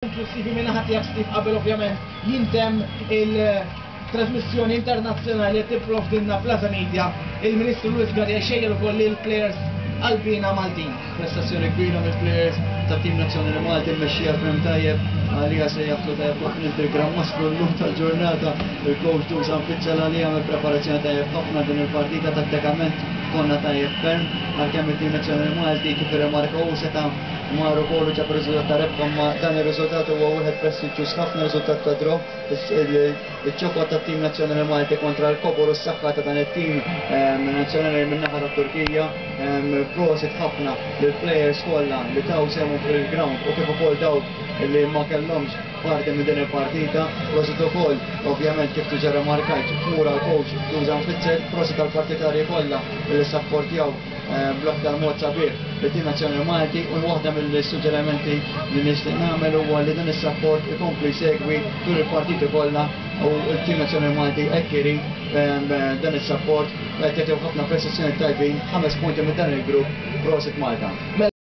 Konklusivi minn naħa tiegħek, Steve, qabel ovvjament jintemm il-trasmissjoni internazzjonali li tipprovdilna Plaza Media, il-Ministru Louis Galea xejjer ukoll lill-players qalbiena Maltin. Prestazzjoni kbira mill-players tat-tim nazzjonali Malti, mmexxija ferm tajjeb għalija se jaħtlu tajjeb ħafna il-Gran Mastru llum tal-ġurnata, il-coach Dusan Fitzell, għalija għamel preparazzjoni tajjeb ħafna din il-partita. Tattikament konna tajjeb ferm, għalkemm it-tim nazzjonali Malti, kif irrimarka hu, seta' mar ukoll u ġab riżultat ta' rebħa, imma dan ir-riżultat huwa wieħed prestiġjuż ħafna, riżultat ta' draw. Iċ-ċokot tat-tim nazzjonali Malti kontra l-kobor u s-saħħa ta' dan it-tim nazzjonali min-naħa tat-Turkija. Prosit ħafna lill-players kollha li taw sehemhom fil-ground u kif ukoll dawk li ma kellhomx parti minn din il-partita. Prosit ukoll, ovvjament, kif diġà remarkajt, tmur għall-coach Dusan Fitzer, prosit għall-partitarji kollha li ssapportjaw bl-aktar mod sabiħ lit-tim nazzjonali Malti, u waħda mill-suġġerimenti li nixtieq nagħmel huwa li dan is-sapport ikompli jsegwi tul il-partiti kollha, u t-tim nazzjonali Malti hekk irid dan is-sapport. Qed jagħtiw ħafna prestazzjoni tajbin, 5 punti minn dan il-grupp, prosit Malta.